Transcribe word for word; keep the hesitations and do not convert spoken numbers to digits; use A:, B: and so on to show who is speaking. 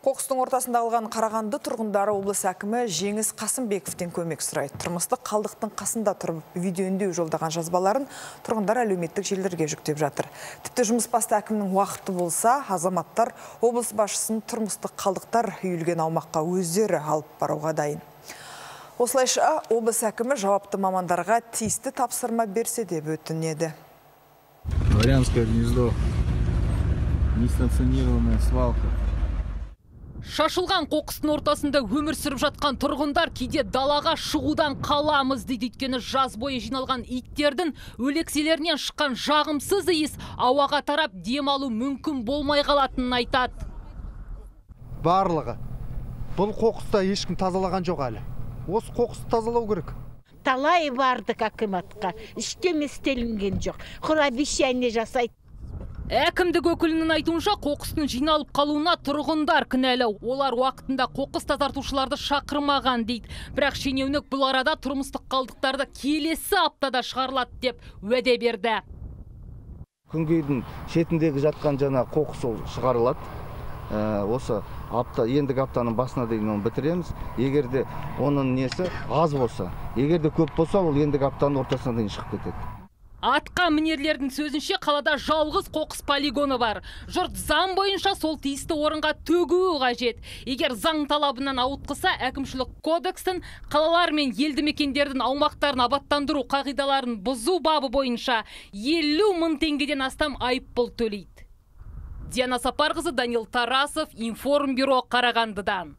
A: Қоқыстың ортасында қалған Қарағанды тұрғындары облыс әкімі Жеңіс Қасымбековтен көмек сұрайды. Тұрмыстық қалдықтың қасында тұрып видео үндеу жолдаған жазбаларын тұрғындар әлеуметтік желілерге жүктеп жатыр. Тіпті жұмыс басты әкімнің уақыты болса, азаматтар облыс басшысын тұрмыстық қалдықтар үйілген аумаққа өздері алып баруға дайын. Осылайша облыс әкімі жауапты мамандарға тиісті тапсырма берсе деп өтінеді.
B: Дворянское гнездо, несанкционированная свалка.
C: Шашылған қоқыстың ортасында өмір сүріп жатқан тұрғындар кейде далаға шығудан қаламыз дейді. Өйткені жаз бойы жиналған иттердің өлекселерінен шыққан жағымсыз иіс ауаға тарап демалу мүмкін болмай қалатынын айтады.
D: Барлығы. Бұл қоқыста ешкім тазалаған жоқ әлі. Осы қоқысты тазалау керек.
E: Талай бардық акиматқа, іштеме істелінген жоқ. Құр обещание жасайды.
C: Әкімдік өкілінің айтуынша қоқыстың жиналып қалуына тұрғындар кінәлі. Олар уақытында қоқыс тазартушыларды шақырмаған дейді. Бірақ шенеунік бұл арада тұрмыстық қалдықтарды келесі аптада шығарылады деп уәде берді.
D: Күнгейдің шетіндегі жатқан жана қоқыс ол шығарылады. Осы апта, ендігі аптаның басына дейін оны бітіреміз. Егерде оның несі аз болса, егерде көп болса, ол ендігі аптаның ортасына дейін шығып кетеді.
C: Атқа мінерлердің сөзінше қалада жалғыз қоқыс полигоны бар. Жұрт заң бойынша сол тиісті орынға төгуі қажет. Егер заң талабынан ауытқыса, әкімшілік кодекстің қалалар мен елді мекендердің аумақтарын абаттандыру қағидаларын бұзу бабы бойынша елу мың теңгеден астам айыппұл төлейді. Диана Сапарқызы, Данил Тарасов, Информбюро, Қарағандыдан.